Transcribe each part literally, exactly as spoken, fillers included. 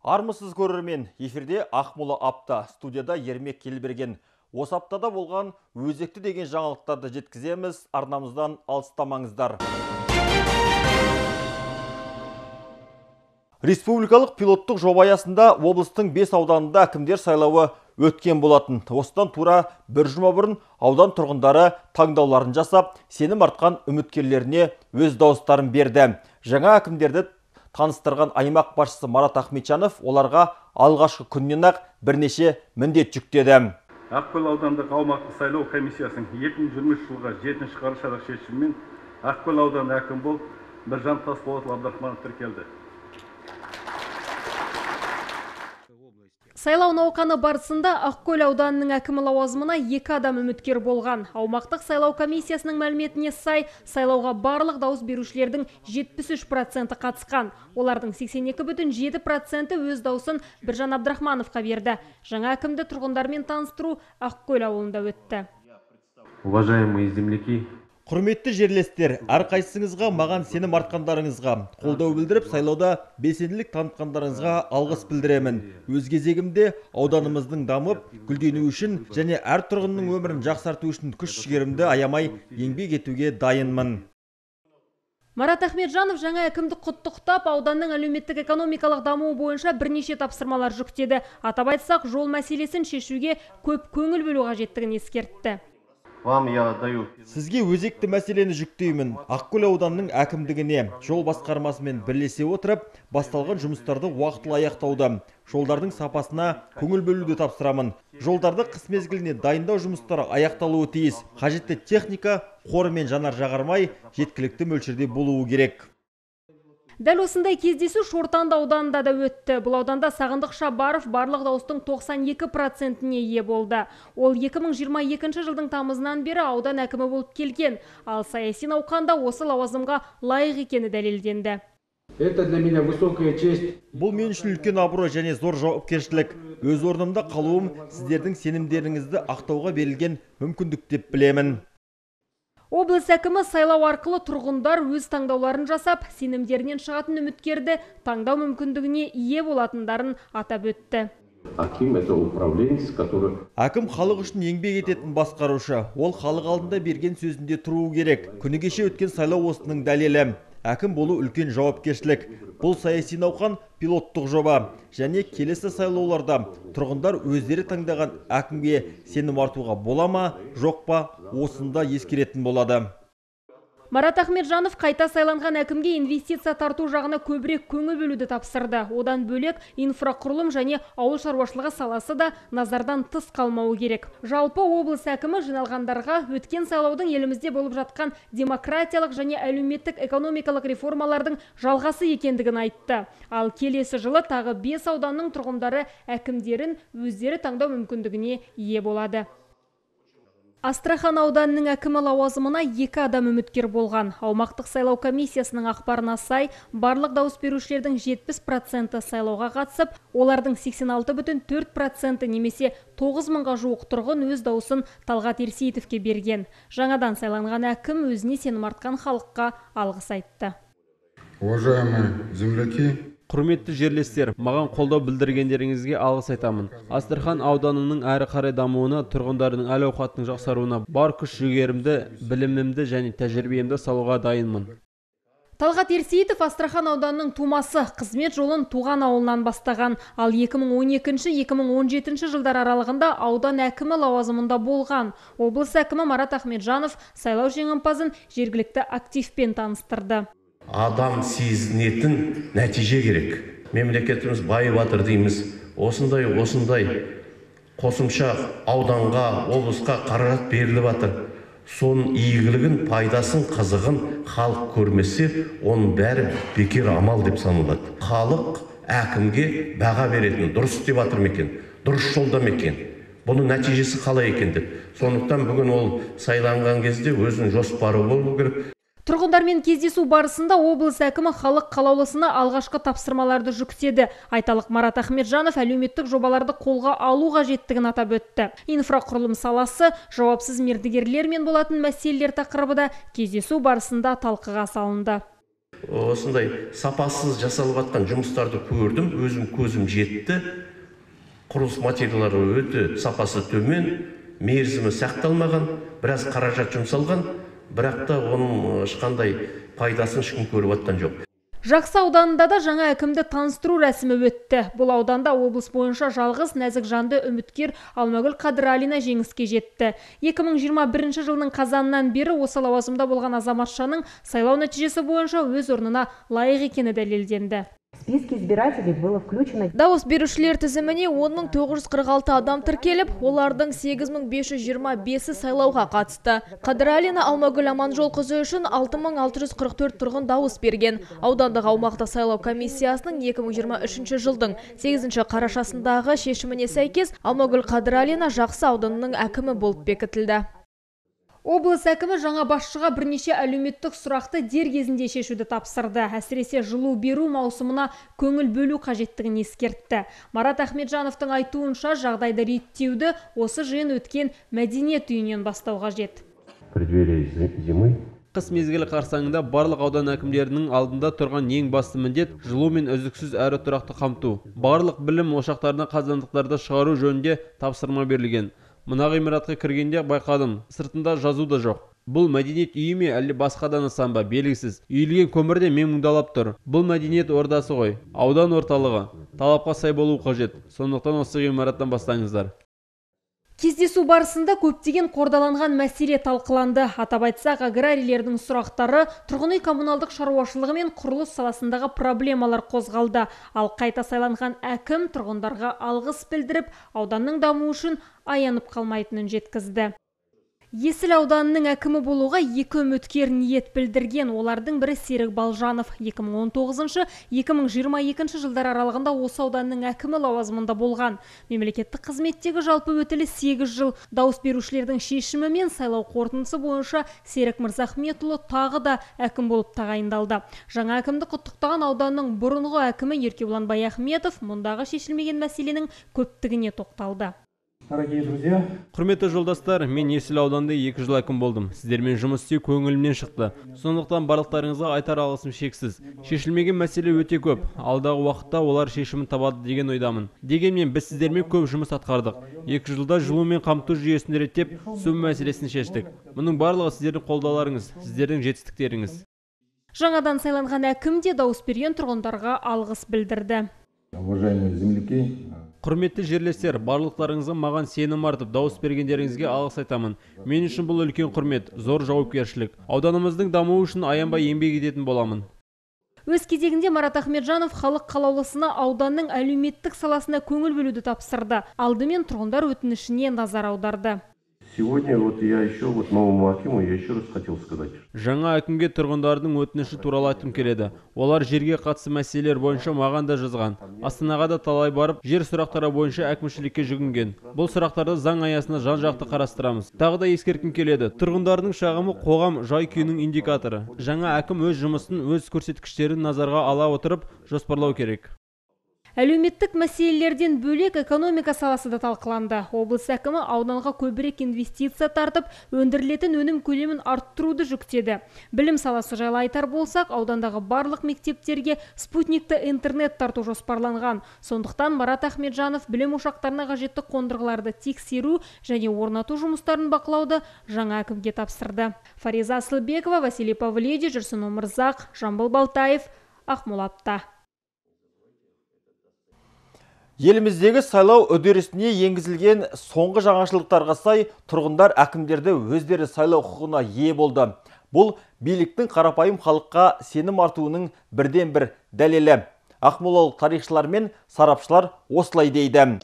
Армысыз көрермен, эфирде Ақмола апта, студияда Ермек Келберген. Осы аптада болған өзекті деген жаңалықтарды жеткіземіз, арнамыздан алыстамаңыздар. Республикалық пилоттық жоба аясында облыстың бес ауданында әкімдер сайлауы өткен болатын. Осыдан тура бір жұма бұрын аудан тұрғындары таңдауларын жасап, сенім артқан үміткерлеріне өз дауыстарын берді. Жаңа әкімдерді таныстырған аймақ басшысы Марат Ахметжанов оларға алғашқы күннен ақ бірнеше міндет жүктеді. Ақкөл аудандық аумақтық сайлау комиссиясының екі мың жиырма үш жылғы жетінші қарашадағы шешімімен Ақкөл ауданы әкім болып Біржан Тасболатұлы Абдрахманов тіркелді. Сайлау науқаны барысында Ақкөл ауданының әкімі лауазымына екі адам үміткер болған. Аумақтық сайлау комиссиясының мәліметіне сай, сайлауға барлық дауыс берушілердің жетпіс үш проценті қатысқан. Олардың сексен екі бүтін жеті проценті өз дауысын Біржан Абдрахмановқа берді. Жаңа әкімді тұрғындармен таныстыру Ақкөл ауылында өтті. Уважаемые земляки, Құрметті жерлестер, әрқайсыңызға маған сенім артқандарыңызға, қолдау білдіріп, сайлауда белсенділік танытқандарыңызға алғыс білдіремін. Өз кезегімде ауданымыздың дамып, гүлденуі үшін және әр тұрғынның өмірін жақсарту үшін күш-жігерімді аямай еңбек етуге дайынмын. Марат Ахметжанов жаңа әкімді құттықтап, ауданның әлеуметтік экономикалық дамуы бойынша бірнеше тапсырмалар жүктеді. Атап айтсақ, жол мәселесін шешуге көп көңіл бөлу қажеттігін ескертті. Вам я даю. Сізге өзекті мәселені жүктеймін. Ақкөл ауданның әкімдігіне жол басқармасымен бірлесе отырып, басталған жұмыстарды уақытылы аяқтауда. Жолдардың сапасына көңіл бөлуді тапсырамын. Жолдарды қыс мезгіліне дайындау жұмыстары аяқталуы тиіс. Қажетті техника, қоры мен жанар жағармай жеткілікті мөлшерде болуы керек. Дәл осындай кездесу Шортанды ауданында да өтті. Бұл ауданда Сағындық Шабаров барлық дауыстың тоқсан екі процентіне ие болды. Ол екі мың жиырма екінші жылдың тамызынан бері аудан әкімі болып келген, ал саяси науқанда осы лауазымға лайық екені дәлелденді. Это для меня высокая честь. Бұл мен үшін үлкен абырой және зор жауапкершілік. Өз орнымда қалуым сіздердің сенімдеріңізді ақтауға берілген мүмкіндік деп білемін. Облыс әкімі сайлау арқылы тұрғындар өз таңдауларын жасап, сенімдерінен шығатын үміткерді таңдау мүмкіндігіне ие болатындарын атап өтті. Аким это управленец, который... Әкім халық үшін еңбек ететін басқарушы. Ол халық алдында берген сөзінде тұруы керек. Күні кеше өткен сайлау осының дәлелі. Әкім болу үлкен жауапкершілік. Бұл саяси науқан пилоттық жоба. Және келесі сайлауларда тұрғындар өздері таңдаған әкімге сенім артуға бола ма, жоқ па, осында ескеретін болады. Марат Ахметжанов қайта сайланған әкімге инвестиция тарту жағына көбірек көңіл бөлуді тапсырды. Одан бөлек инфрақұрылым және ауыл шаруашылығы саласы да назардан тыс қалмауы керек. Жалпы облыс әкімі жиналғандарға өткен сайлаудың елімізде болып жатқан демократиялық және әлеуметтік экономикалық реформалардың жалғасы екендігін айтты. Ал келесі жылы тағы бес ауданның тұрғындары әкімдерін өздері таңдау мүмкіндігіне ие болады. Астрахан ауданының әкімі лауазымына екі адам үміткер болған. Аумақтық сайлау комиссиясының ақпарына сай, барлық дауыс берушілердің жетпіс проценті сайлауға қатысып, олардың сексен алты бүтін төрт проценті немесе тоғыз мыңға жуық тұрғын өз дауысын Талғат Ерсейітовке берген. Жаңадан сайланған әкім өзіне сенім артқан халыққа алғыс айтты. Уважаемые земляки, Құрметті жерлестер, маған қолдау білдіргендеріңізге алғыс айтамын. Астрахан ауданының әрі қарай дамуына, тұрғындардың әл-ауқатының жақсаруына бар күш-жігерімді, білімімді және тәжірибемді салуға дайынмын. Талғат Ерсейітов Астрахан ауданының тумасы, қызмет жолын туған ауылынан бастаған, ал екі мың он екінші - екі мың он жетінші жылдар аралығында аудан әкімі лауазымында болған. Облыс әкімі Марат Ахметжанов сайлау жеңімпазын жергілікті активпен таныстырды. Адам сезінетін нәтиже керек. Мемлекетіміз байып жатыр дейміз. Осындай, осындай қосымша ауданға, облысқа қаражат беріліп жатыр. Соның игілігін, пайдасын, қызығын халық көрмесе, оның бәрі бекер амал деп саналады. Халық әкімге баға беретін, дұрыс деп жатыр ма екен, дұрыс жолда ма екен, бұның нәтижесі қалай екен деп. Сондықтан бүгін ол сайланған кезде өзінің жоспары болу керек. Тұрғындармен кездесу барысында облыс әкімі халық қалаулысына алғашқы тапсырмаларды жүктеді. Айталық Марат Ахметжанов әлеуметтік жобаларды қолға алу қажеттігін атап өтті. Инфрақұрылым саласы, жауапсыз мердігерлермен болатын мәселелер тақырыбы да кездесу барысында талқыға салынды. осындай сапасыз жасалып жатқан жұмыстарды көрдім, өзім көзім жетті. Құрылыс материалдары өте сапасы төмен, мерзімі сақталмаған, біраз қаражат жұмсалған, бірақ та оның ешқандай пайдасын ешкім көріп жатқан жоқ. Жақсы ауданында да жаңа әкімді таныстыру рәсімі өтті. Бұл ауданда облыс бойынша жалғыз нәзік жанды үміткер Алмагүл Қадыралина жеңіске жетті. екі мың жиырма бірінші жылының қазанынан бері осы лауазымда болған азаматшаның сайлау нәтижесі бойынша өз орнына лайық екені дәлелденді. Списки избирателей было включено. Дауыс берушілер тізіміне он мың тоғыз жүз қырық алты адам тіркеліп, олардың сегіз мың бес жүз жиырма бесі сайлауға қатысты. Қадыралина Алмагүл Аманжолқызы үшін алты мың алты жүз қырық төрт тұрғын дауыс берген. Аудандық аумақты сайлау комиссиясының екі мың жиырма үшінші жылдың сегізінші қарашасындағы шешіміне сәйкес Алмагүл Қадыралина Жақсы ауданының әкімі болып бекітілді. Облыс әкімі жаңа басшыға бірнеше әлеуметтік сұрақты дер кезінде шешуді тапсырды. Әсіресе жылу беру маусымына көңіл бөлу қажеттігін ескертті. Марат Ахметжановтың айтуынша жағдайды реттеуді осы жиын өткен мәдениет үйінен бастау қажет. преддверии зимы Қыс мезгілі қарсаңында барлық аудан әкімдерінің алдында тұрған ең басты міндет жылу мен үздіксіз әрі тұрақты қамту. Барлық білім ошақтарына қазандықтарды шығару жөнінде тапсырма берілген. Мына ғимаратқа кіргенде байқадым, сыртында жазу да жоқ. Бұл мәдениет үйі ме, әлде басқа да нысан ба, белгісіз. Үйілген көмірде мен мұңдалап тұр. Бұл мәдениет ордасы ғой, аудан орталығы. Талапқа сай болу қажет. Сондықтан осы ғимараттан бастаңыздар. Кездесу барысында көптеген қордаланған мәселе талқыланды. Атап айтсақ, аграрийлердің сұрақтары, тұрғын үй коммуналдық шаруашылығы мен құрылыс саласындағы проблемалар қозғалды. Ал қайта сайланған әкім тұрғындарға алғыс білдіріп, ауданның дамуы үшін аянып қалмайтынын жеткізді. Есіл ауданының әкімі болуға екі үміткер ниет білдірген. Олардың бірі Серік Балжанов. екі мың он тоғызыншы - екі мың жиырма екінші жылдар аралығында осы ауданның әкімі лауазымында болған. Мемлекеттік қызметтегі жалпы өтілі сегіз жыл. Дауыс берушілердің шешімі мен сайлау қорытындысы бойынша Серік Мырзахметұлы тағы да әкім болып тағайындалды. Жаңа әкімді құттықтаған ауданның бұрынғы әкімі Еркебұлан Баяхметов мұндағы шешілмеген мәселенің көптігіне тоқталды. Дорогие друзья, Құрметті жолдастар, мен Есіл ауданында екі жыл әкім болдым. Сіздермен жұмыс істеу көңілімнен шықты. Сондықтан барлықтарыңызға айтар алғысым шексіз. Шешілмеген мәселе өте көп. Алдағы уақытта олар шешімін табады деген ойдамын. Дегенмен біз сіздермен көп жұмыс атқардық. Екі жылда жылу мен қамту жүйесін реттеп, су мәселесін шештік. Мұның барлығы сіздердің қолдауларыңыз, сіздердің жетістіктеріңіз. Жаңадан сайланған әкім де дауыс берген тұрғындарға алғыс білдірді. Уважаемые земляки, Құрметті жерлестер, барлықтарыңызға маған сенім артып, дауыс бергендеріңізге алғыс айтамын. Мен үшін бұл үлкен құрмет, зор жауапкершілік. Ауданымыздың дамуы үшін аянбай еңбек ететін боламын. Өз кезегінде Марат Ахметжанов халық қалаулысына ауданның әлеуметтік саласына көңіл бөлуді тапсырды. Алдымен тұрғындар өтінішіне назар аударды. Сегодня вот я еще вот новому акиму я еще раз хотел сказать. Жаңа әкімге тұрғындардың өтініші туралы айтқым келеді. Олар жерге қатысты мәселелер бойынша маған да жазған. Астанаға да талай барып, жер сұрақтары бойынша әкімшілікке жүгінген. Бұл сұрақтарды заң аясында жан-жақты қарастырамыз. Тағы да ескерткім келеді. Тұрғындардың шағымы қоғам жай-күйінің индикаторы. Жаңа әкім өз жұмысын, өз көрсеткіштерін назарға ала отырып жоспарлау керек. Әлеуметтік мәселелерден бөлек экономика саласы да талқыланды. Облыс әкімі ауданға көбірек инвестиция тартып, өндірілетін өнім көлемін арттыруды жүктеді. Білім саласы жайлы айтар болсақ, аудандағы барлық мектептерге спутникті интернет тарту жоспарланған. Сондықтан Марат Ахметжанов білім ошақтарына қажетті қондырғыларды тексеру және орнату жұмыстарын бақылауды жаңа әкімге тапсырды. Фариза Асылбекова, Василий Павледи, Жүрсін Омырзақ, Жамбыл Балтаев, Ақмолатта. Еліміздегі сайлау үдерісіне енгізілген соңғы жаңашылдықтарға сай тұрғындар әкімдерді өздері сайлау құқығына ие болды. Бұл биліктің қарапайым халыққа сенім артуының бірден бір дәлелі. Ақмолалық тарихшылар мен сарапшылар осылай дейді.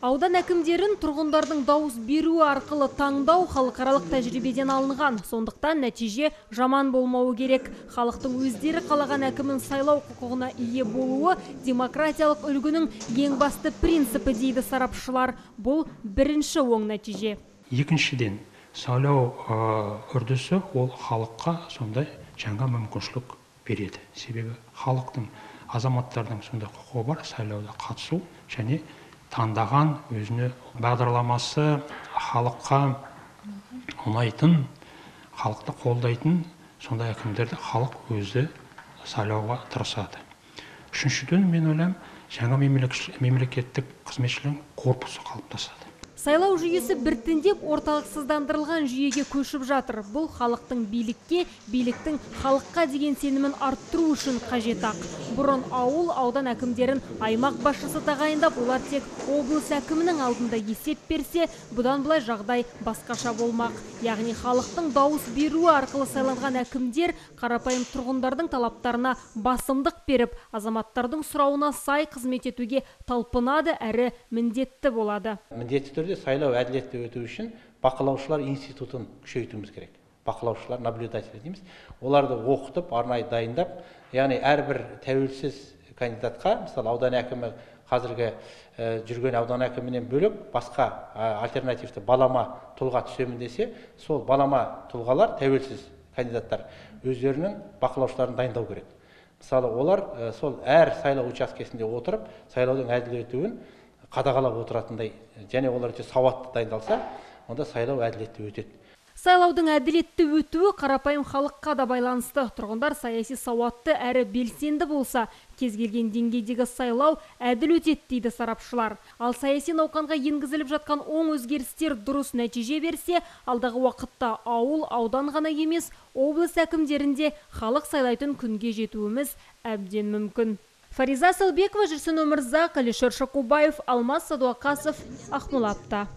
Аудан әкімдерін тұрғындардың дауыс беруі арқылы таңдау халықаралық тәжірибеден алынған. Сондықтан нәтиже жаман болмауы керек. Халықтың өздері қалаған әкімін сайлау құқығына ие болуы демократиялық үлгінің ең басты принципі дейді сарапшылар. Бұл бірінші оң нәтиже. екіншіден, сайлау үрдісі ол халыққа сондай жаңа мүмкіншілік береді. Себебі халықтың, азаматтардың сондай құқығы бар сайлауда қатысу және таңдаған өзіне бағдарламасы халыққа ұнайтын, халықты қолдайтын сондай әкімдерді халық өзі сайлауға тырысады. Үшіншіден, мен ойлаймын, жаңа мемлекеттік қызметшілердің корпусы қалыптасады. Сайлау жүйесі біртіндеп орталықсыздандырылған жүйеге көшіп жатыр. Бұл халықтың билікке, биліктің халыққа деген сенімін арттыру үшін қажет ақ. Бұрын ауыл, аудан әкімдерін аймақ басшысы тағайындап, олар тек облыс әкімінің алдында есеп берсе, бұдан былай жағдай басқаша болмақ. Яғни халықтың дауыс беруі арқылы сайланған әкімдер қарапайым тұрғындардың талаптарына басымдық беріп, азаматтардың сұрауына сай қызмет етуге талпынады әрі міндетті болады. Міндетті түрде сайлау әділетті өту үшін бақылаушылар институтын күшейтуіміз керек. Бақылаушылар, наблюдатель дейміз. Оларды оқытып, арнайы дайындап, яғни әрбір тәуелсіз кандидатқа, мысалы аудан әкімі қазіргі жүрген аудан әкімінен бөлек басқа альтернативті балама тұлға түсемін десе, сол балама тұлғалар, тәуелсіз кандидаттар өздерінің бақылаушыларын дайындау керек. Мысалы, олар сол әр сайлау учаскесінде отырып, сайлаудың әділ өтуін қадағалап отыратындай, және олар өте сауатты дайындалса, онда сайлау әділетті өтеді. Сайлаудың әділетті өтуі қарапайым халыққа да байланысты. Тұрғындар саяси сауатты әрі белсенді болса, кез келген деңгейдегі сайлау әділ өтеді дейді сарапшылар. Ал саяси науқанға енгізіліп жатқан оң өзгерістер дұрыс нәтиже берсе, алдағы уақытта ауыл, аудан ғана емес, облыс әкімдерінде халық сайлайтын күнге жетуіміз әбден мүмкін. Фариза Салбекова, Жүрсін Өмірзақ, Алишер Шакубаев, Алмас Садуақасов, Ақмола апта.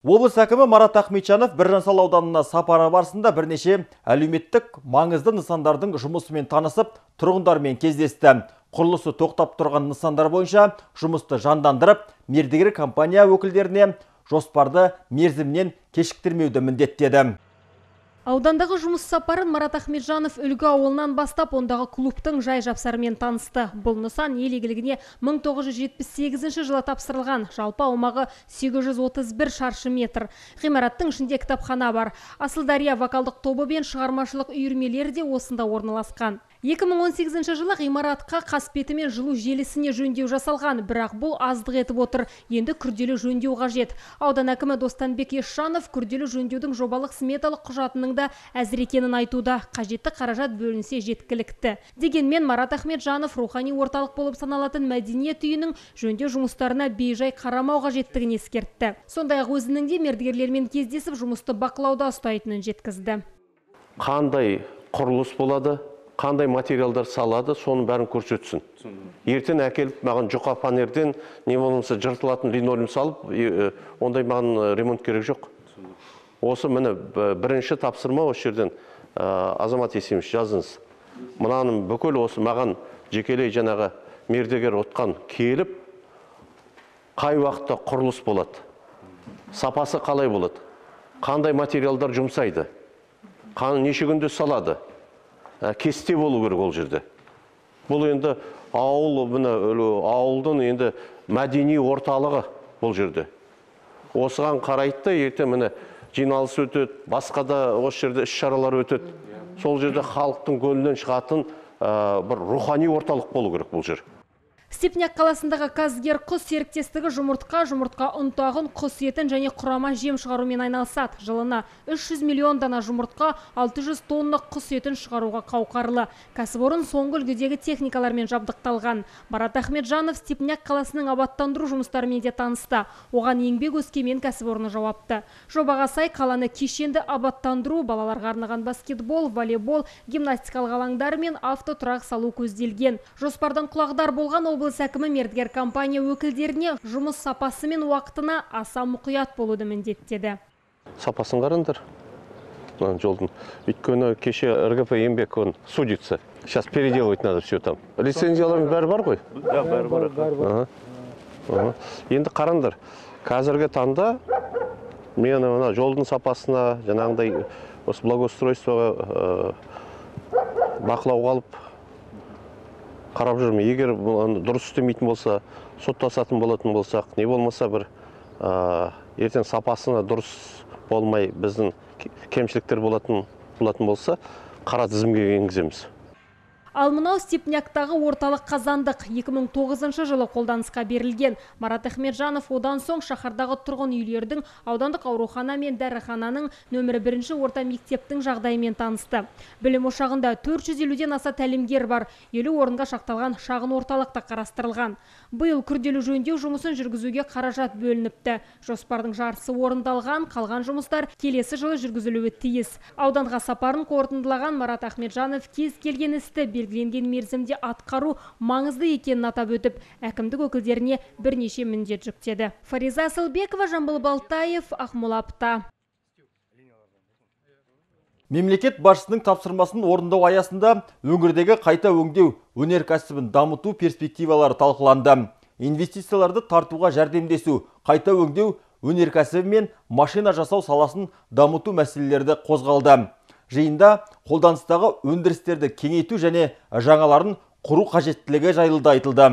Облыс әкімі Марат Ахметжанов Біржан-Сал ауданына сапары барысында бірнеше әлеуметтік маңызды нысандардың жұмысымен танысып, тұрғындармен кездесті. Құрылысы тоқтап тұрған нысандар бойынша жұмысты жандандырып, мердігер компания өкілдеріне жоспарды мерзімнен кешіктірмеуді міндеттеді. Аудандағы жұмыс сапарын Марат Ахметжанов Үлгі ауылынан бастап, ондағы клубтың жай жапсарымен танысты. Бұл нысан ел игілігіне мың тоғыз жүз жетпіс сегізінші жылы тапсырылған. Жалпы аумағы сегіз жүз отыз бір шаршы метр. Ғимараттың ішінде кітапхана бар. Асылдария вокалдық тобы бен шығармашылық үйірмелері де осында орналасқан. екі мың он сегізінші жылы ғимаратқа қасбеті мен жылу желісіне жөндеу жасалған, бірақ бұл аздық етіп отыр. Енді күрделі жөндеу қажет. Аудан әкімі Достанбек Есжанов күрделі жөндеудің жобалық сметалық құжатының да әзір екенін айтуда. Қажетті қаражат бөлінсе жеткілікті. Дегенмен Марат Ахметжанов рухани орталық болып саналатын мәдениет үйінің жөндеу жұмыстарына бейжай қарамау қажеттігін ескертті. Сондай-ақ өзінің де мердігерлермен кездесіп жұмысты бақылауда ұстайтынын жеткізді. Қандай құрылыс болады, қандай материалдар салады, соның бәрін көрсетсін. Ертең әкеліп, маған жұқа фанерден, не болмаса жыртылатын линолеум салып, ондай маған ремонт керек жоқ. Осы міне бірінші тапсырма осы жерден Азамат Есемович жазыңыз. Мынаның бүкіл осы маған жекелей жаңағы мердігер отқан келіп, қай уақытта құрылыс болады, сапасы қалай болады, қандай материалдар жұмсайды, неше күнде салады, кесте болу керек ол жерде. Бұл енді ауыл, ауылдың енді мәдени орталығы бұл жерде. Осыған қарайды, ертең міне жиналыс өтеді, басқа да осы жерде іс-шаралар өтеді. Сол жерде халықтың көңілінен шығатын бір рухани орталық болу керек бұл жер. Степняк қаласындағы Казгер құс серіктестігі жұмыртқа, жұмыртқа ұнтағын, құс етін және құрама жем шығарумен айналысады. Жылына үш жүз миллион дана жұмыртқа, алты жүз тонна құс етін шығаруға қауқарлы. Кәсіпорын соңғы үлгідегі техникалармен жабдықталған. Марат Ахметжанов Степняк қаласының абаттандыру жұмыстарымен де танысты. Оған еңбек өскемен кәсіпорны жауапты. Жобаға сай қаланы кешенді абаттандыру, балаларға арналған баскетбол, волейбол, гимнастикалық алаңдар мен автотұрақ салу көзделген. Жоспардан құлағдар болған облыс әкімі мердігер компания өкілдеріне жұмыс сапасы мен уақытына аса мұқият болуды міндеттеді. Сапасын қараңдар жолдың. Өйткені кеше РГП еңбек он судится. Сейчас переделывать надо все там. Лицензиялардың бәрі бар ғой? Да, бәрі бар. Енді қараңдар. Қазіргі таңда мен мына жолдың сапасына, жаңағындай осы благоустройствоға бақылауға алып қарап жүрмін. Егер дұрыс істемейтін болса, соттасатын болатын болсақ, не болмаса бір ертең сапасына дұрыс болмай біздің кемшіліктер болатын болатын болса, қара тізімге енгіземіз. Ал мынау Степняктағы орталық қазандық екі мың тоғызыншы жылы қолданысқа берілген. Марат Ахметжанов одан соң шаһардағы тұрғын үйлердің, аудандық аурухана мен дәріхананың, нөмірі бірінші орта мектептің жағдайымен танысты. Білім ошағында төрт жүз елуден аса тәлімгер бар, елу орынға шақталған шағын орталықта қарастырылған. Биыл күрделі жөндеу жұмысын жүргізуге қаражат бөлініпті. Жоспардың жартысы орындалған, қалған жұмыстар келесі жылы жүргізілуі тиіс. Ауданға сапарын қорытындылаған Марат Ахметжанов кез келген істі белгіленген мерзімде атқару маңызды екенін атап өтіп, әкімдік өкілдеріне бірнеше міндет жүктеді. Фариза Асылбекова, Жамбыл Балтаев, Ақмола апта. Мемлекет басшысының тапсырмасын орындау аясында өңірдегі қайта өңдеу өнеркәсібін дамыту перспективалары талқыланды. Инвестицияларды тартуға жәрдемдесу, қайта өңдеу өнеркәсібі мен машина жасау саласын дамыту мәселелерді қозғалды. Жиында қолданыстағы өндірістерді кеңейту және жаңаларын құру қажеттілігі жайылды айтылды.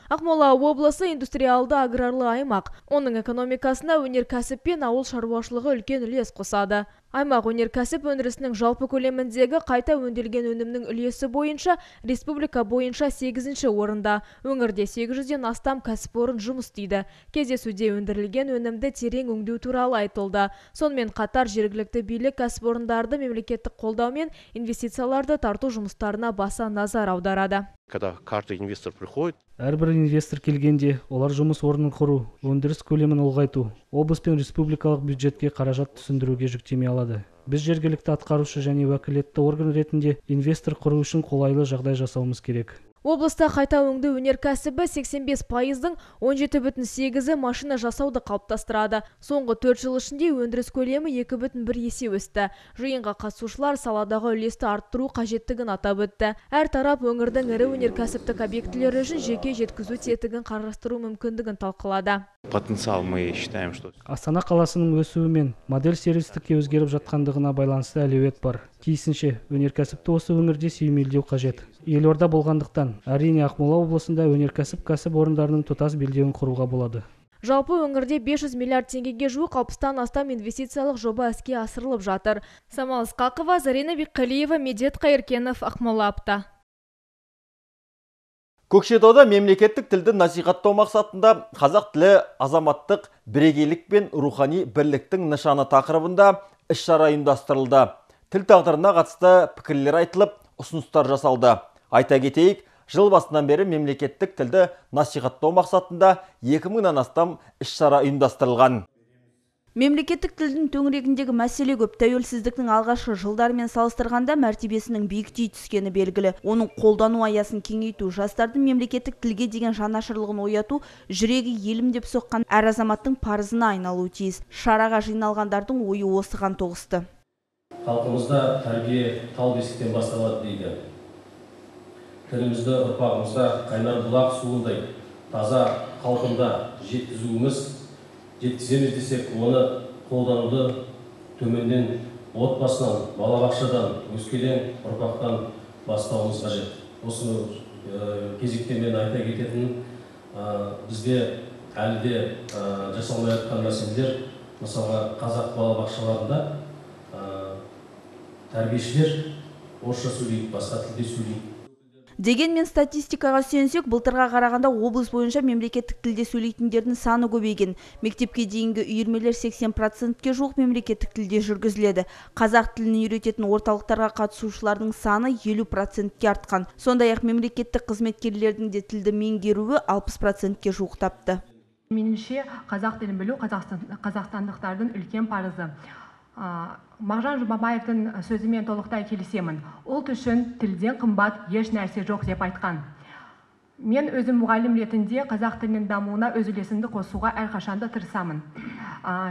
Ақмола облысы индустриалды аграрлы аймақ. Оның экономикасына өнеркәсіп пен ауыл шаруашылығы үлкен үлес қосады. Аймақ өнеркәсіп өндірісінің жалпы көлеміндегі қайта өңделген өнімнің үлесі бойынша республика бойынша сегізінші орында. Өңірде сегіз жүзден астам кәсіпорын жұмыс істейді. Кездесуде өндірілген өнімді терең өңдеу туралы айтылды. Сонымен қатар жергілікті билік кәсіпорындарды мемлекеттік қолдау мен инвестицияларды тарту жұмыстарына баса назар аударады. Когда каждый инвестор приходит, әрбір инвестор келгенде, олар жұмыс орнын құру, өндіріс көлемін ұлғайту, облыс пен республикалық бюджетке қаражат түсіндіруге жүктеме алады. Біз жергілікті атқарушы және уәкілетті орган ретінде инвестор құру үшін қолайлы жағдай жасауымыз керек. Облыста қайта өңдеу өнеркәсібі сексен бес пайыздың он жеті бүтін сегізі машина жасауды қалыптастырады. Соңғы төрт жыл ішінде өндіріс көлемі екі бүтін бір есе өсті. Жиынға қатысушылар саладағы үлесті арттыру қажеттігін атап өтті. Әр тарап өңірдің ірі өнеркәсіптік объектілері үшін жеке жеткізу тетігін қарастыру мүмкіндігін талқылады. Потенциал мы считаем, что Астана қаласының өсуімен модель сервистікке өзгеріп жатқандығына байланысты әлеует бар. Тиісінше өнеркәсіпті осы өңірде сүйемелдеу қажет. Елорда болғандықтан, әрине Ақмола облысында өнеркәсіп кәсіпорындарының тұтас белдеуін құруға болады. Жалпы өңірде бес жүз миллиард теңгеге жуық алпыстан астам инвестициялық жоба іске асырылып жатыр. Самал Ысқақова, Зарина Бекқалиева, Медет Қайыркенов, Ақмола апта. Көкшетауда мемлекеттік тілді насихаттау мақсатында қазақ тілі азаматтық бірегейлік пен рухани бірліктің нышаны тақырыбында іс-шара ұйымдастырылды. Тіл тағдырына қатысты пікірлер айтылып, ұсыныстар жасалды. Айта кетейік, жыл басынан бері мемлекеттік тілді насихаттау мақсатында екі мыңнан астам іс-шара ұйымдастырылған. Мемлекеттік тілдің төңірегіндегі мәселе көп. Тәуелсіздіктің алғашқы жылдарымен салыстырғанда мәртебесінің биіктей түскені белгілі. Оның қолдану аясын кеңейту, жастардың мемлекеттік тілге деген жанашырлығын ояту, жүрегі елім деп соққан әр азаматтың парызына айналуы тиіс. Шараға жиналғандардың ойы осыған тоғысты. Халқымызда тәрбие тал бесіктен басталады дейді. Тілімізді ұрпағымызда қайнар бұлақ суындай таза қалпында жеткізуіміз, жеткіземіз десек, оны қолдануды төменнен, отбасынан, балабақшадан, өскелең ұрпақтан бастауымыз қажет. Осыны кезекте мен айта кететін, бізде әлі де жасалмай жатқан мәселелер, мысалға қазақ балабақшаларында тәрбиешілер орысша сөйлейді, басқа тілде сөйлейді. Дегенмен статистикаға сүйенсек, былтырға қарағанда облыс бойынша мемлекеттік тілде сөйлейтіндердің саны көбейген. Мектепке дейінгі үйірмелер сексен процентке жуық мемлекеттік тілде жүргізіледі. Қазақ тілін үйрететін орталықтарға қатысушылардың саны елу процентке артқан. Сондай-ақ мемлекеттік қызметкерлердің де тілді меңгеруі алпыс процентке жуықтапты. Меніңше, қазақ тілін білу қазақстандықтардың үлкен парызы. Мағжан Жұмабаевтың сөзімен толықтай келісемін. Ұлт үшін тілден қымбат еш нәрсе жоқ деп айтқан. Мен өзім мұғалім ретінде қазақ тілінің дамуына өз үлесімді қосуға әрқашанда тырысамын.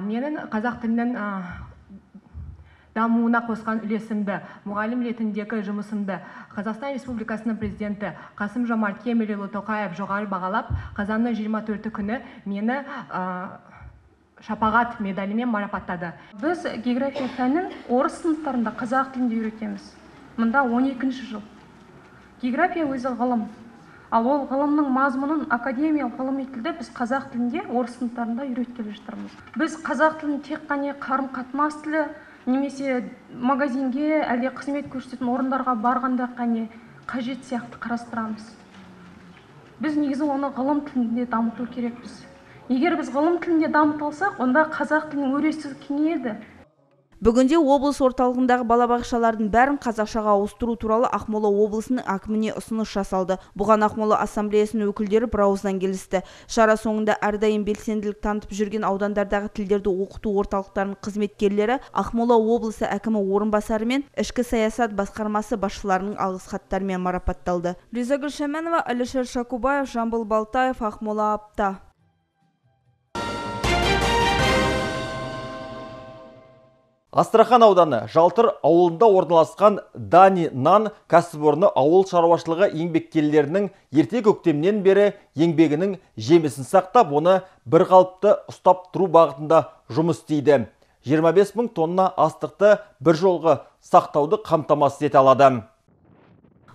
Менің қазақ тілінің дамуына қосқан үлесімді, мұғалім ретіндегі жұмысымды Қазақстан Республикасының президенті Қасым Жомарт Кемелұлы Тоқаев жоғары бағалап, қазанның жиырма төрті күні мені шапағат медалімен марапаттады. Біз география пәнін орыс сыныптарында қазақ тілінде үйретеміз. Мұнда он екінші жыл. География өзі ғылым. Ал ол ғылымның мазмұнын академиялық ғылыми тілде біз қазақ тілінде орыс сыныптарында үйреткелі жатырмыз. Біз қазақ тілін тек қана қарым-қатынас тілі немесе магазинге әлде қызмет көрсететін орындарға барғанда қане қажет сияқты қарастырамыз. Біз негізі оны ғылым тілінде дамыту керекпіз. Егер біз ғылым тілінде дамыта алсақ, онда қазақ тілінің өресі кеңейеді. Бүгінде облыс орталығындағы балабақшалардың бәрін қазақшаға ауыстыру туралы Ақмола облысының әкіміне ұсыныс жасалды. Бұған Ақмола ассамблеясының өкілдері бірауыздан келісті. Шара соңында әрдайым белсенділік танытып жүрген аудандардағы тілдерді оқыту орталықтарының қызметкерлері Ақмола облысы әкімі орынбасары мен ішкі саясат басқармасы басшыларының алғыс хаттарымен марапатталды. Ризагүл Шаменова, Алишер Шакубаев, Жамбыл Балтаев, Ақмола апта. Астрахан ауданы Жалтыр ауылында орналасқан Дани Нан кәсіпорны ауыл шаруашылығы еңбеккерлерінің ерте көктемнен бері еңбегінің жемісін сақтап, оны бір қалыпты ұстап тұру бағытында жұмыс істейді. жиырма бес мың тонна астықты бір жолғы сақтауды қамтамасыз ете алады.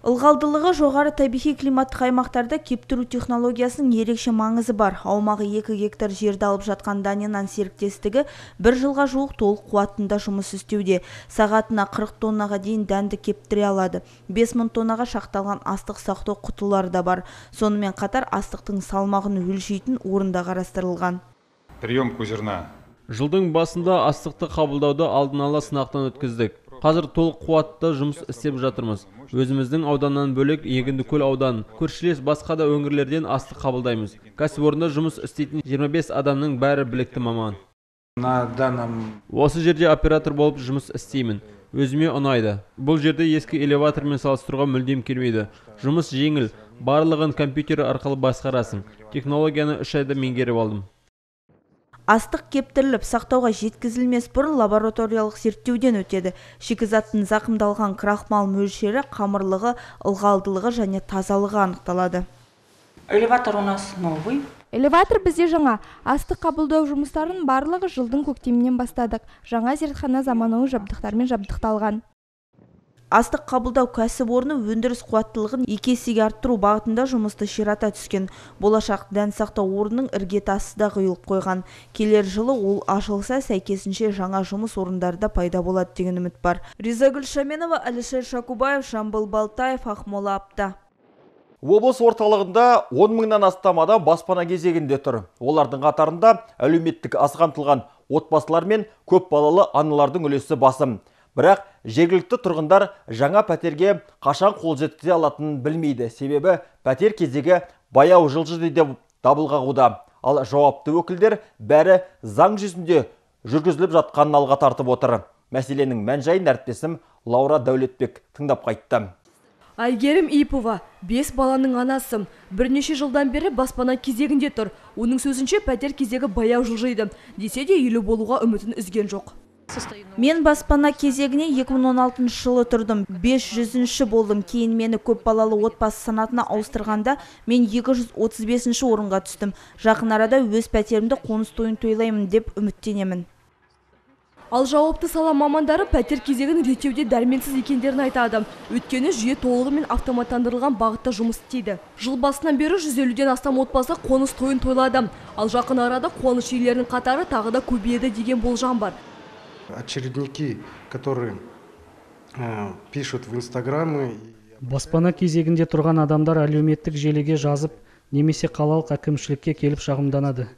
Ылғалдылығы жоғары табиғи климаттық аймақтарда кептіру технологиясының ерекше маңызы бар. Аумағы екі гектар жерді алып жатқан Дани Нан серіктестігі бір жылға жуық толық қуатында жұмыс істеуде. Сағатына қырық тоннаға дейін дәнді кептіре алады. бес мың тоннаға шақталған астық сақтау құтылары да бар. Сонымен қатар астықтың салмағын өлшейтін орында қарастырылған. Приемку зерна. Жылдың басында астықты қабылдауды алдын ала сынақтан өткіздік. Қазір толық қуатты жұмыс істеп жатырмыз. Өзіміздің ауданнан бөлек Егіндікөл ауданын, көршілес басқа да өңірлерден астық қабылдаймыз. Кәсіпорында жұмыс істейтін жиырма бес адамның бәрі білікті маман. Осы жерде оператор болып жұмыс істеймін. Өзіме ұнайды. Бұл жерде ескі элеватормен салыстыруға мүлдем келмейді. Жұмыс жеңіл, барлығын компьютер арқылы басқарасың. Технологияны үш айда меңгеріп алдым. Астық кептіріліп, сақтауға жеткізілмес бұрын лабораториялық зерттеуден өтеді. Шикізаттың зақымдалған крахмал мөлшері, қамырлығы, ылғалдылығы және тазалығы анықталады. Элеватор у нас новый. Элеватор бізде жаңа. Астық қабылдау жұмыстарын барлығы жылдың көктемінен бастадық. Жаңа зертхана заманауи жабдықтармен жабдықталған. Астық қабылдау кәсіпорны өндіріс қуаттылығын екі есеге арттыру бағытында жұмысты ширата түскен. Болашақ дән сақтау орнының іргетасы да құйылып қойған. Келер жылы ол ашылса, сәйкесінше жаңа жұмыс орындарда пайда болады деген үміт бар. Ризагүл Шаменова, Алишер Шакубаев, Жамбыл Балтаев, Ақмола апта. Облыс орталығында он мыңнан астам адам баспана кезегінде тұр. Олардың қатарында әлеуметтік аз қамтылған отбасылар мен көп балалы аналардың үлесі басым. Бірақ жергілікті тұрғындар жаңа пәтерге қашан қол жеткізе алатынын білмейді. Себебі пәтер кезегі баяу жылжыды деп дабыл қағуда. Ал жауапты өкілдер бәрі заң жүзінде жүргізіліп жатқанын алға тартып отыр. Мәселенің мән-жайын әріптесім Лаура Дәулетбек тыңдап қайтты. Айгерім Ипова, бес баланың анасым. Бірнеше жылдан бері баспана кезегінде тұр. Оның сөзінше пәтер кезегі баяу жылжиды. Десе де үйлі болуға үмітін үзген жоқ. Мен баспана кезегіне екі мың он алтыншы жылы тұрдым. бес жүзінші болдым. Кейін мені көп балалы отбасы санатына ауыстырғанда мен екі жүз отыз бесінші орынға түстім. Жақын арада өз пәтерімді қоныс тойын тойлаймын деп үміттенемін. Ал жауапты сала мамандары пәтер кезегін реттеуде дәрменсіз екендерін айтады. Өйткені жүйе толығымен автоматтандырылған бағытта жұмыс істейді. Жыл басынан бері жүз елуден астам отбасы қоныс тойын тойлады. Ал жақын арада қуаныш иелерінің қатары тағы да көбейеді деген болжам бар. Очередники, которые э, пишут в инстаграмы. Баспана кезегінде тұрған адамдар әлеуметтік желіге жазып, немесе қалалық әкімшілікке келіп шағымданады.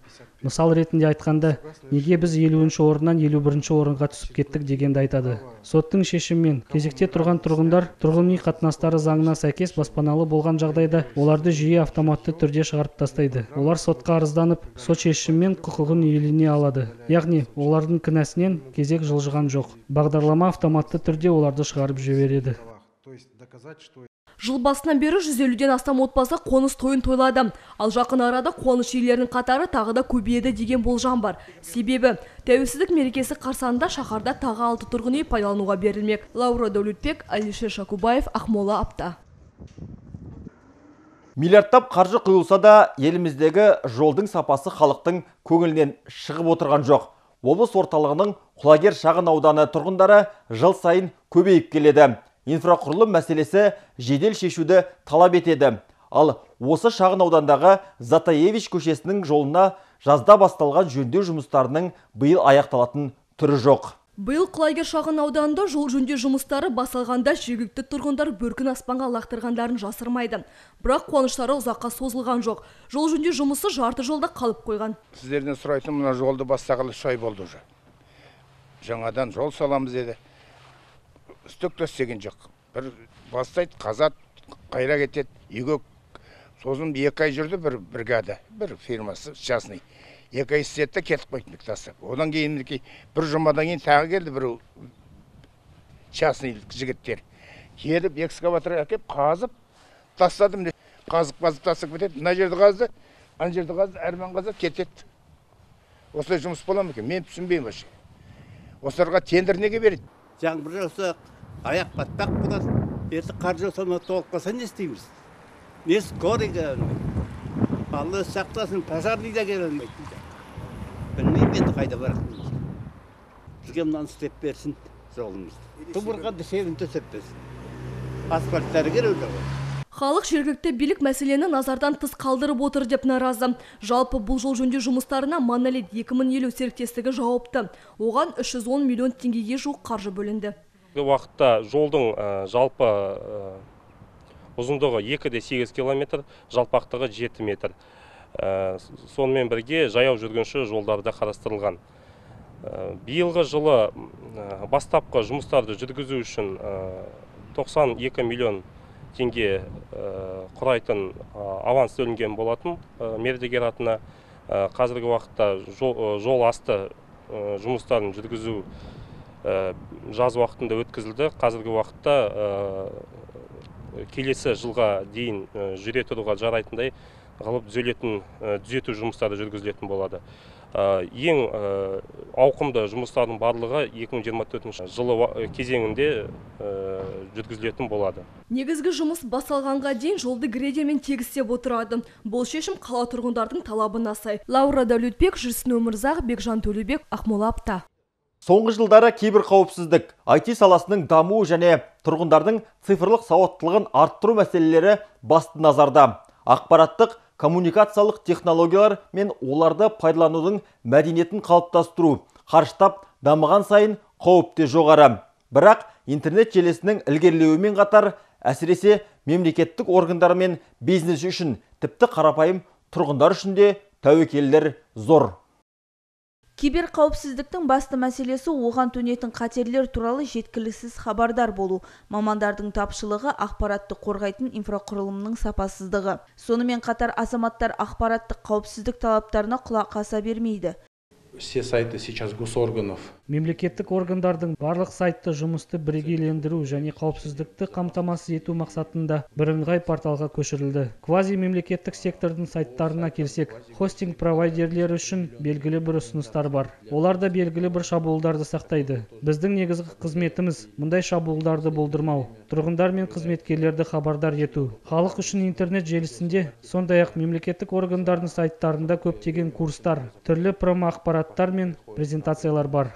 Мысал ретінде айтқанда, неге біз елуінші орыннан елу бірінші орынға түсіп кеттік дегенді айтады. Соттың шешімімен кезекте тұрған тұрғындар тұрғын үй қатынастары заңына сәйкес баспаналы болған жағдайда оларды жүйе автоматты түрде шығарып тастайды. Олар сотқа арызданып, сот шешімімен құқығын иелене алады. Яғни олардың кінәсінен кезек жылжыған жоқ. Бағдарлама автоматты түрде оларды шығарып жібереді. Жыл басынан бері жүз елуден астам отбасы қоныс тойын тойлады. Ал жақын арада қуаныш иелерінің қатары тағы да көбейеді деген болжам бар. Себебі тәуелсіздік мерекесі қарсаңында шаһарда тағы алты тұрғын үй пайдалануға берілмек. Лаура Дәулетбек, Алишер Шакубаев, Ақмола апта. Миллиардтап қаржы құйылса да, еліміздегі жолдың сапасы халықтың көңілінен шығып отырған жоқ. Облыс орталығының Құлагер шағын ауданы тұрғындары жыл сайын көбейіп келеді. Инфрақұрылым мәселесі жедел шешуді талап етеді. Ал осы шағын аудандағы Затаевич көшесінің жолына жазда басталған жөндеу жұмыстарының биыл аяқталатын түрі жоқ. Биыл Құлагер шағын ауданында жол жөндеу жұмыстары басылғанда жергілікті тұрғындар бөркін аспанға лақтырғандарын жасырмайды. Бірақ қуаныштары ұзаққа созылған жоқ. Жол жөндеу жұмысы жарты жолда қалып қойған. Сіздерден сұрайтын, мына жолды бастағалы үш ай болды уже. Жаңадан жол саламыз деді. Үстік төстеген жоқ. Бір бастайды, қазат, қайра кетеді. Үйге сосын екі ай жүрді бір бригада, бір фирмасы, частный. Екі ай істетті, кетіп қойды тастап. Одан кейін бір жұмадан кейін тағы келді бір частный жігіттер. Келіп, экскаватор әкеп, қазып, тастадым. Қазып, қазып, тастап кетеді. Мына жерді қазды, ана жерді қазды, әрмен қазып кетеді. Осылай жұмыс бола ма екен? Мен түсінбеймін вообще. Осыларға тендер неге береді? Жаңбыр жауса, аяқ батпақ болады. Ерті қар жауса, толық қалса не істейміз? Не скорыйға Алла сақтасын, пожарный да келе алмайды. Білмеймін енді қайда барақпыз. Бізге мынаны істеп берсін жолымызды. Тұбырға дешевін төсеп берсін. Асфальттары керек ғой. Халық жергілікті билік мәселені назардан тыс қалдырып отыр деп наразы. Жалпы бұл жол жөндеу жұмыстарына Монолит екі мың елу серіктестігі жауапты. Оған үш жүз он миллион теңгеге жуық қаржы бөлінді. Уақытта жолдың жалпы ұзындығы екі де сегіз километр, жалпақтығы жеті метр. Сонымен бірге жаяу жүргінші жолдарда қарастырылған. Биылғы жылы бастапқы жұмыстарды жүргізу үшін тоқсан екі миллион теңге құрайтын аванс төлінген болатын мердігер атына. Қазіргі уақытта жол асты жұмыстарын жүргізу жаз уақытында өткізілді. Қазіргі уақытта келесі жылға дейін жүре тұруға жарайтындай ғылып түзелетін түзету жұмыстары жүргізілетін болады. Ең ауқымды жұмыстардың барлығы екі мың жиырма төртінші жылы кезеңінде жүргізілетін болады. Негізгі жұмыс басталғанға дейін жолды грейдермен тегістеп отырады. Бұл шешім қала тұрғындардың талабына сай. Лаура Дәулетбек, Жүрсін Өмірзақ, Бекжан Төлебек, Ақмола апта. Соңғы жылдары киберқауіпсіздік, ай ти саласының дамуы және тұрғындардың цифрлық сауаттылығын арттыру мәселелері басты назарда. Ақпараттық, коммуникациялық технологиялар мен оларды пайдаланудың мәдениетін қалыптастыру, қарыштап дамыған сайын қауіпте жоғары. Бірақ интернет желісінің ілгерілеуімен қатар, әсіресе мемлекеттік органдар мен бизнес үшін, тіпті қарапайым тұрғындар үшін де тәуекелдер зор. Киберқауіпсіздіктің басты мәселесі оған төнетін қатерлер туралы жеткіліксіз хабардар болу, мамандардың тапшылығы, ақпаратты қорғайтын инфрақұрылымның сапасыздығы. Сонымен қатар азаматтар ақпараттық қауіпсіздік талаптарына құлақ аса бермейді. Все сайты сейчас госорганов. Мемлекеттік органдардың барлық сайтты жұмысты бірегейлендіру және қауіпсіздікті қамтамасыз ету мақсатында бірыңғай порталға көшірілді. Квази мемлекеттік сектордың сайттарына келсек, хостинг провайдерлері үшін белгілі бір ұсыныстар бар. Олар да белгілі бір шабуылдарды сақтайды. Біздің негізгі қызметіміз мұндай шабуылдарды болдырмау, тұрғындар мен қызметкерлерді хабардар ету. Халық үшін интернет желісінде, сондай-ақ мемлекеттік органдардың сайттарында көптеген курстар, түрлі промо-ақпарат мен презентациялар бар.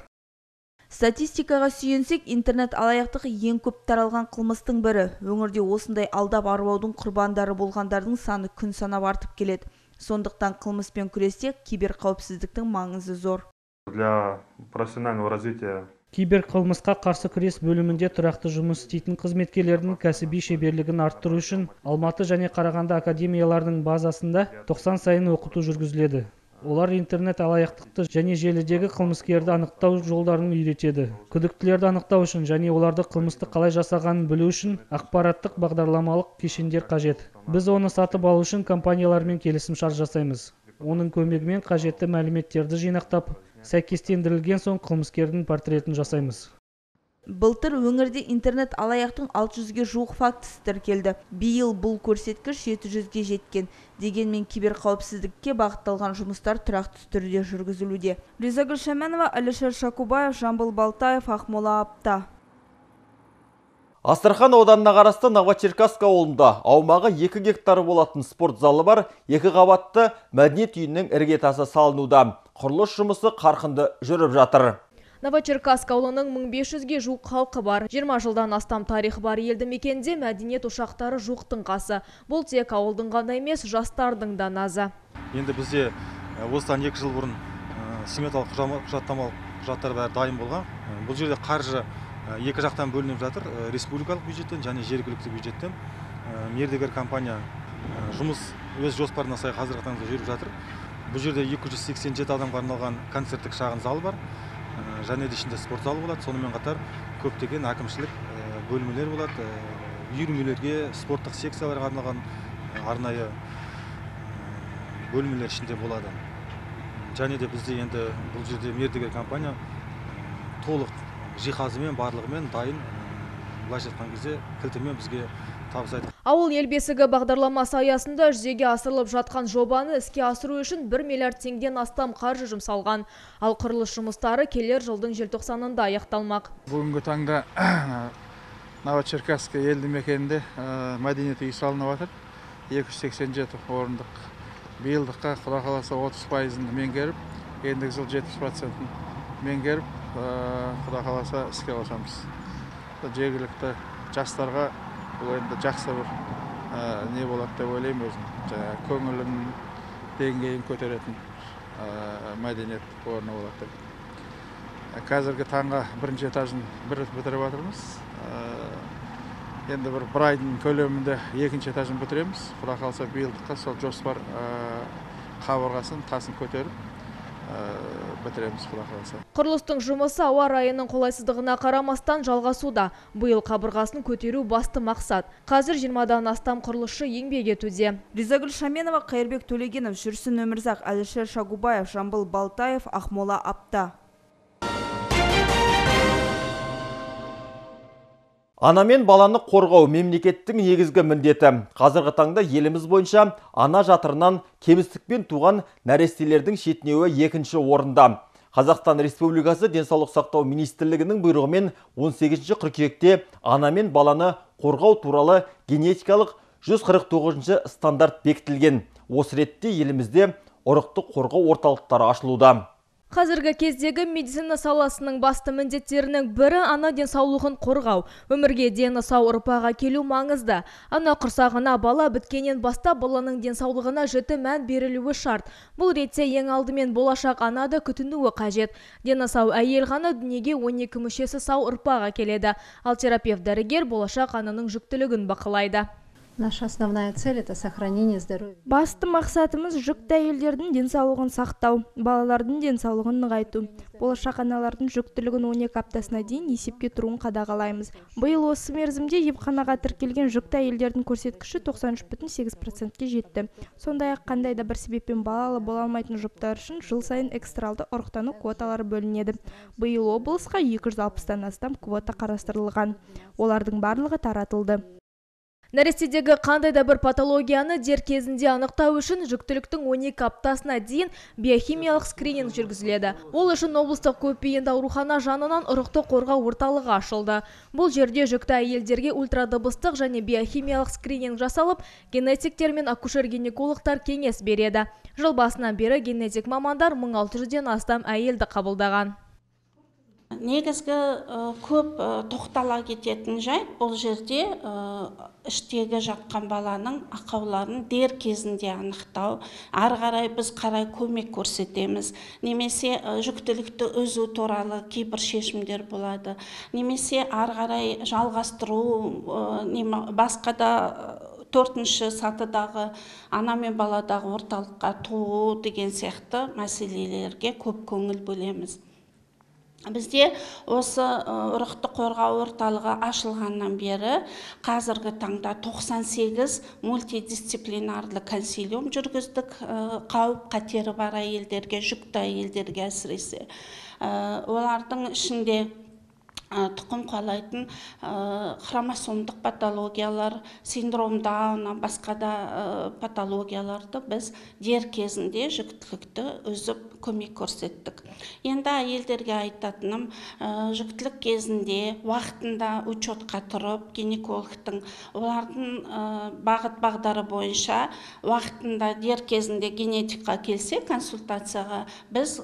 Статистикаға сүйенсек, интернет алаяқтығы ең көп таралған қылмыстың бірі. Өңірде осындай алдап арбаудың құрбандары болғандардың саны күн санап артып келеді. Сондықтан қылмыспен күресте киберқауіпсіздіктің маңызы зор. Для профессионального развития Киберқылмысқа қарсы күрес бөлімінде тұрақты жұмыс істейтін қызметкерлердің кәсіби шеберлігін арттыру үшін Алматы және Қарағанды академияларының базасында тоқсан сайын оқыту жүргізіледі. Олар интернет алаяқтықты және желідегі қылмыскерді анықтау жолдарын үйретеді. Күдіктілерді анықтау үшін және оларды қылмысты қалай жасағанын білу үшін ақпараттық бағдарламалық кешендер қажет. Біз оны сатып алу үшін компаниялармен келісімшарт жасаймыз. Оның көмегімен қажетті мәліметтерді жинақтап, сәйкестендірілген соң қылмыскердің портретін жасаймыз. Былтыр өңірде интернет алаяқтың алты жүзге жуық фактісі тіркелді. Биыл бұл көрсеткіш жеті жүзге жеткен. Дегенмен киберқауіпсіздікке бағытталған жұмыстар тұрақты түрде жүргізілуде. Резагүл Шаменова, Алишер Шакубаев, Жамбыл Балтаев, Ақмола апта. Астрахан ауданына қарасты Новочеркасск ауылында аумағы екі гектар болатын спорт залы бар, екі қабатты мәдениет үйінің іргетасы салынуда. Құрылыс жұмысы қарқынды жүріп жатыр. Новочеркасск ауылының мың бес жүзге жуық халқы бар. жиырма жылдан астам тарихы бар елді мекенде мәдениет ошақтары жоқтың қасы. Бұл тек ауылдың ғана емес, жастардың да назы. Енді бізде осыдан екі жыл бұрын сметалық құжаттамалық құжаттар бәрі дайын болған. Бұл жерде қаржы екі жақтан бөлініп жатыр, республикалық бюджеттен және жергілікті бюджеттен. Мердігер компания жұмыс өз жоспарына сай қазіргі таңда жүріп жатыр. Бұл жерде екі жүз сексен жеті адамға арналған концерттік шағын зал бар, және де ішінде спорт залы болады. Сонымен қатар көптеген әкімшілік бөлмелер болады, үйірмелерге, спорттық секцияларға арналған арнайы бөлмелер ішінде болады. Және де бізде енді бұл жерде мердігер компания толық жиһазымен, барлығымен дайын. Былайша айтқан кезде кілтімен бізге табыстайды. Ауыл ел бесігі бағдарламасы аясында жүзеге асырылып жатқан жобаны іске асыру үшін бір миллиард теңгеден астам қаржы жұмсалған. Ал құрылыс жұмыстары келер жылдың желтоқсанында аяқталмақ. Бүгінгі таңда Новочеркасск елді мекенінде мәдениет үйі салынып жатыр. екі жүз сексен жеті орындық. Биылдыққа Құда қаласа отыз пайызын меңгеріп, ендігі жыл жетпіс процентін меңгеріп, Құда қаласа іске қосамыз. Жергілікті жастарға бұл енді жақсы бір не болады деп ойлаймын өзім. Көңілін деңгейін көтеретін мәдениет орны болады деп. Қазіргі таңға бірінші этажын бір бітіріп жатырмыз. Енді бір бір айдың көлемінде екінші этажын бітіреміз. Құда қаласа биылдыққа сол жоспар қабырғасын, тасын көтеріп бітіреміз Құда қаласа. Құрылыстың жұмысы ауа райының қолайсыздығына қарамастан жалғасуда. Биыл қабырғасын көтеру басты мақсат. Қазір жиырмадан астам құрылысшы еңбек етуде. Ризагүл Шаменова, Қайырбек Төлегенов, Жүрсін Өмірзақ, Әлішер Шагубаев, Жамбыл Балтаев, Ақмола Апта. Ана мен баланы қорғау мемлекеттің негізгі міндеті. Қазіргі таңда еліміз бойынша ана жатырынан кемістікпен туған нәрестелердің шетінеуі екінші орында. Қазақстан Республикасы денсаулық сақтау министрлігінің бұйрығымен он сегізінші қыркүйекте ана мен баланы қорғау туралы генетикалық жүз қырық тоғызыншы стандарт бекітілген. Осы ретте елімізде ұрықты қорғау орталықтары ашылуда. Қазіргі кездегі медицина саласының басты міндеттерінің бірі ана денсаулығын қорғау. Өмірге дені сау ұрпағы келу маңызды. Ана құрсағына бала біткеннен бастап баланың денсаулығына жіті мән берілуі шарт. Бұл ретте ең алдымен болашақ анады күтінуі қажет. Дені сау әйел ғана дүниеге он екі мүшесі сау ұрпағы келеді. Ал терапевт дәрігер болашақ ананың жүктілігін бақылайды. Наша основная цель – это сохранение здоровья. Басты мақсатымыз жүкті әйелдердің денсаулығын сақтау, балалардың денсаулығын нығайту. Болашақ аналардың жүктілігін он екі аптасына дейін есепке тұруын қадағалаймыз. Биыл осы мерзімде емханаға тіркелген жүкті әйелдердің көрсеткіші тоқсан үш бүтін сегіз процентке жетті. Сондай-ақ қандай да бір себеппен балалы бола алмайтын жұптар үшін жыл сайын экстралды ұрықтану квоталары бөлінеді. Биыл облысқа екі жүз алпыстан астам квота қарастырылған. Олардың барлығы таратылды. Нәрестедегі қандай да бір патологияны дер кезінде анықтау үшін жүктіліктің он екі аптасына дейін биохимиялық скрининг жүргізіледі. Ол үшін облыстық көпбейінді аурухана жанынан ұрықты қорғау орталығы ашылды. Бұл жерде жүкті әйелдерге ультрадыбыстық және биохимиялық скрининг жасалып, генетиктер мен акушер-гинекологтар кеңес береді. Жыл басынан бері генетик мамандар мың алты жүзден астам әйелді қабылдаған. Негізгі көп тоқтала кететін жайт бұл жерде іштегі жатқан баланың ақауларын дер кезінде анықтау. Ары қарай біз қарай көмек көрсетеміз. Немесе жүктілікті үзу туралы кейбір шешімдер болады. Немесе ары қарай жалғастыру, басқа да төртінші сатыдағы ана мен баладағы орталыққа туу деген сияқты мәселелерге көп көңіл бөлеміз. Бізде осы ұрықты қорғау орталығы ашылғаннан бері қазіргі таңда тоқсан сегіз мультидисциплинарлы консилиум жүргіздік. Қауіп қатері бар әйелдерге, жүкті әйелдерге әсіресе. Олардың ішінде тұқым қуалайтын хромосомдық патологиялар, синдром Дауна, басқа да патологияларды біз дер кезінде жүктілікті үзіп көмек көрсеттік. Енді әйелдерге айтатыным, жүктілік кезінде уақытында учетқа тұрып, гинекологтың олардың бағыт бағдары бойынша уақытында дер кезінде генетикқа келсе, консультацияға біз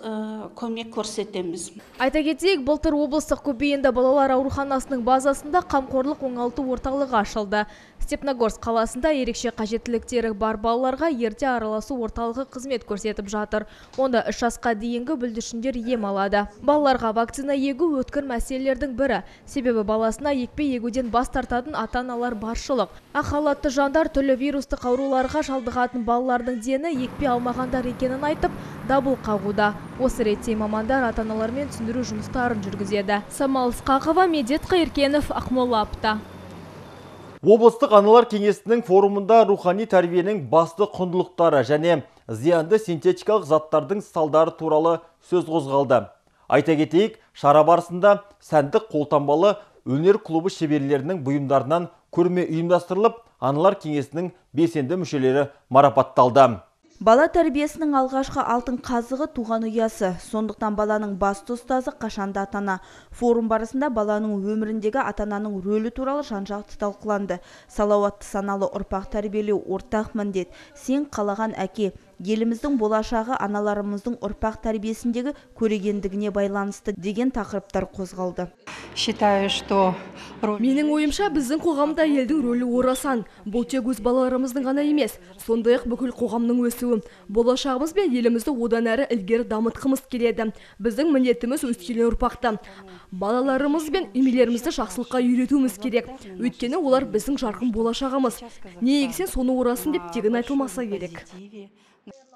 көмек көрсетеміз. Айта кетейік, былтыр облыстық көпбейінді балалар ауруханасының базасында қамқорлық оңалту орталығы ашылды. Степногорск қаласында ерекше қажеттіліктері бар балаларға ерте араласу орталығы қызмет көрсетіп жатыр. Онда үш жасқа дейінгі бүлдіршіндер ем алады. Балаларға вакцина егу өткір мәселелердің бірі. Себебі баласына екпе егуден бас тартатын ата-аналар баршылық. Ақ халатты жандар түрлі вирустық ауруларға шалдығатын балалардың дені екпе алмағандар екенін айтып, дабыл қағуда. Осы ретте мамандар ата-аналармен түсіндіру жұмыстарын жүргізеді. Самал Ысқақова, Медет Қайыркенов, Ақмола апта. Облыстық аналар кеңесінің форумында рухани тәрбиенің басты құндылықтары және зиянды синтетикалық заттардың салдары туралы сөз қозғалды. Айта кетейік, шара барысында сәндік қолтаңбалы өнер клубы шеберлерінің бұйымдарынан көрме ұйымдастырылып, аналар кеңесінің белсенді мүшелері марапатталды. Бала тәрбиесінің алғашқы алтын қазығы туған ұясы. Сондықтан баланың басты ұстазы қашанда атана. Форум барысында баланың өміріндегі атананың рөлі туралы жан-жақты талқыланды. Салауатты саналы ұрпақ тәрбиелеу ортақ міндет. Сен қалаған әке. Еліміздің болашағы аналарымыздың ұрпақ тәрбиесіндегі көрегендігіне байланысты деген тақырыптар қозғалды. Считаю, что менің ойымша біздің қоғамда елдің рөлі орасан. Бұл тек өз балаларымыздың ғана емес, сондай-ақ бүкіл қоғамның өсуі. Болашағымыз бен елімізді одан әрі ілгері дамытқымыз келеді. Біздің міндетіміз өскелең ұрпақты. Балаларымыз бен үймелерімізді жақсылыққа үйретуіміз керек. Өйткені олар біздің жарқын болашағымыз. Не егсең соны орасын деп тегін айтылмаса керек.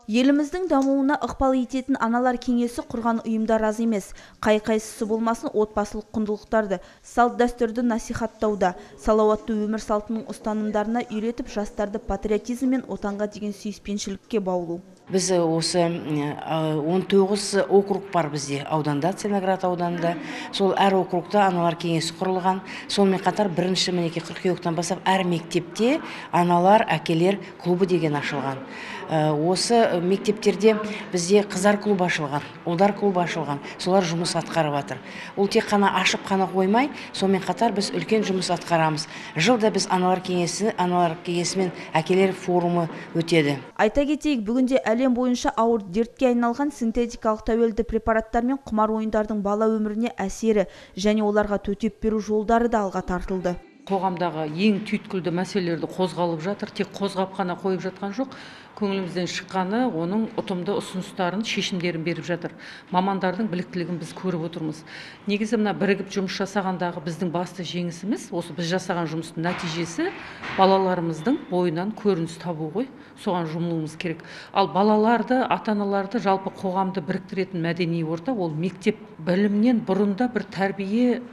Еліміздің дамуына ықпал ететін аналар кеңесі құрған ұйымдар аз емес. Қай-қайсысы болмасын отбасылық құндылықтарды, салт дәстүрді насихаттауда, салауатты өмір салтының ұстанымдарына үйретіп, жастарды патриотизм мен отанға деген сүйіспеншілікке баулу. Біз осы он тоғыз округ бар бізде ауданда, Целиноград ауданында. Сол әр округта аналар кеңесі құрылған. Сонымен қатар бірінші мінеке қыркүйектен бастап әр мектепте аналар, әкелер клубы деген ашылған. Осы мектептерде бізде қыздар клубы ашылған, ұлдар клубы ашылған. Солар жұмыс атқарып жатыр. Ол тек қана ашып қана қоймай, сонымен қатар біз үлкен жұмыс атқарамыз. Жылда біз аналар кеңесі, аналар кеңесі мен әкелер форумы өтеді. Айта кетейік, бүгінде әлем бойынша ауыр дертке айналған синтетикалық тәуелді препараттар мен құмар ойындардың бала өміріне әсері және оларға төтеп беру жолдары да алға тартылды. Қоғамдағы ең түйткілді мәселелерді қозғалып жатыр, тек қозғап қана қойып жатқан жоқ. Көңілімізден шыққаны оның ұтымды ұсыныстарын, шешімдерін беріп жатыр. Мамандардың біліктілігін біз көріп отырмыз. Негізі мына бірігіп жұмыс жасағандағы біздің басты жеңісіміз, осы біз жасаған жұмыстың нәтижесі балаларымыздың бойынан көрініс табу ғой. Соған жұмылуымыз керек. Ал балаларды, ата-аналарды, жалпы қоғамды біріктіретін мәдени орта, ол мектеп білімнен бұрында бір тәрбие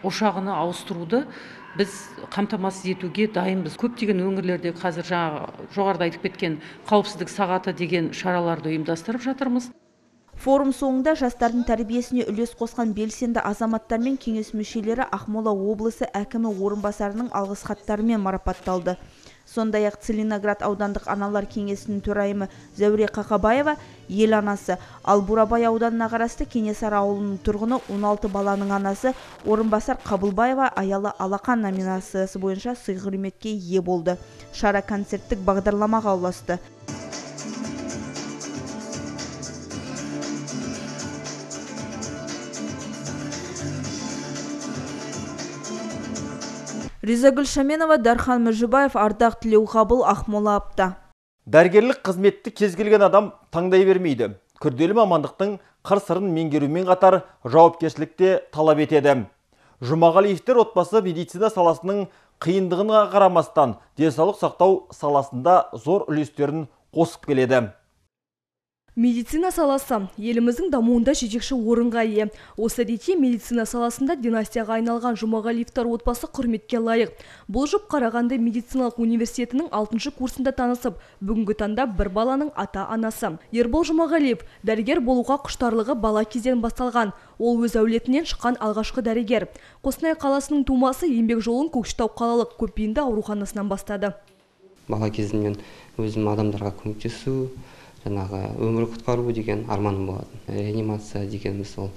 ошағына ауыстыруды біз қамтамасыз етуге дайынбыз. Көптеген өңірлерде қазір жаңағы жоғарыда айтып кеткен қауіпсіздік сағаты деген шараларды ұйымдастырып жатырмыз. Форум соңында жастардың тәрбиесіне үлес қосқан белсенді азаматтар мен кеңес мүшелері Ақмола облысы әкімі орынбасарының алғыс хаттарымен марапатталды. Сондай-ақ Целиноград аудандық аналар кеңесінің төрайымы Зәуре Қақабаева ел анасы, ал Бурабай ауданына қарасты Кенесары ауылының тұрғыны он алты баланың анасы орынбасар Қабылбаева аялы алақан номинациясы бойынша сый-құрметке ие болды. Шара концерттік бағдарламаға ұласты. Ризагүл Шаменова, Дархан Мүжібаев, Ардақ Тілеуғабыл, Ақмола апта. Дәрігерлік қызметті кез келген адам таңдай бермейді. Күрделі мамандықтың қыр-сырын меңгерумен қатар жауапкершілікте талап етеді. Жұмағалиевтер отбасы медицина саласының қиындығына қарамастан денсаулық сақтау саласында зор үлестерін қосып келеді. Медицина саласы еліміздің дамуында жетекші орынға ие. Осы ретте медицина саласында династияға айналған Жұмағалиевтер отбасы құрметке лайық. Бұл жұп Қарағанды медициналық университетінің алтыншы курсында танысып, бүгінгі таңда бір баланың ата-анасы. Ербол Жұмағалиев дәрігер болуға құштарлығы бала кезден басталған. Ол өз әулетінен шыққан алғашқы дәрігер. Қостанай қаласының тумасы еңбек жолын Көкшетау қалалық көпбейінді ауруханасынан бастады. Бала кезімнен өзім адамдарға көмектесу, жаңағы өмір құтқару деген арманым болатын. Реанимация дегеніміз ол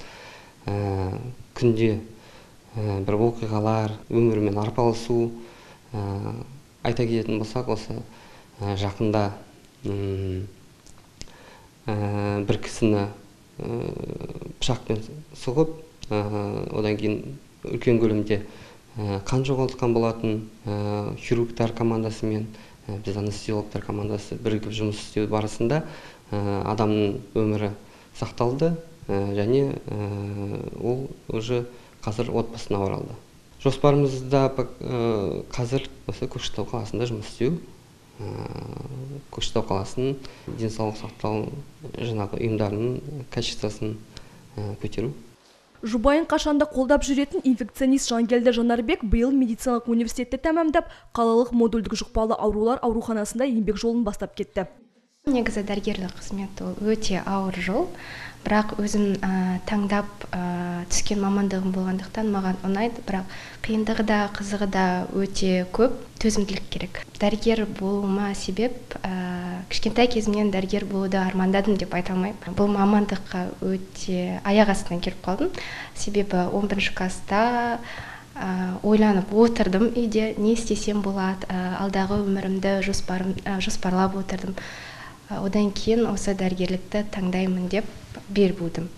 күнде бір оқиғалар, өмірмен арпалысу. Айта кететін болсақ, осы жақында бір кісіні пышақпен сұғып, одан кейін үлкен көлемде қан жоғалтқан болатын. Хирургтар командасымен біз анестезиологтар командасы бірігіп жұмыс істеу барысында адамның өмірі сақталды және ол уже қазір отбасына оралды. Жоспарымызда қазір осы Көкшетау қаласында жұмыс істеу, Көкшетау қаласының денсаулық сақтау жаңағы ұйымдарының качествосын көтеру. Жұбайын қашанда қолдап жүретін инфекционист Жангелді Жанарбек биыл медициналық университетті тәмамдап, қалалық модульдік жұқпалы аурулар ауруханасында еңбек жолын бастап кетті. Негізі дәрігерлік қызмет ол өте ауыр жол, бірақ өзім таңдап түскен мамандығым болғандықтан маған ұнайды, бірақ қиындығы да қызығы да өте көп, төзімділік керек. Дәрігер болуыма себеп, кішкентай кезімнен дәрігер болуды армандадым деп айта алмаймын. Бұл мамандыққа өте аяқ астынан келіп қалдым. Себебі он бірінші класста ойланып отырдым үйде, не істесем болады, алдағы өмірімді жоспарлап отырдым. Одан кейін осы дәрігерлікті таңдаймын деп бел будым.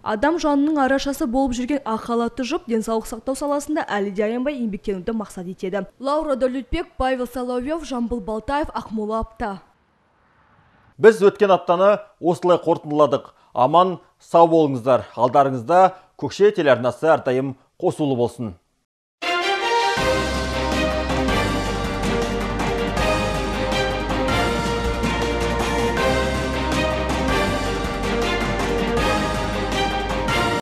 Адам жанының арашасы болып жүрген ақ халатты жұп денсаулық сақтау саласында әлі де аянбай еңбектенуді мақсат етеді. Лаура Дәулетбек, Павел Соловьев, Жамбыл Балтаев, Ақмола апта. Біз өткен аптаны осылай қорытындыладық. Аман, сау болыңыздар. Алдарыңызда Көкше телеарнасы әрдайым қосулы болсын.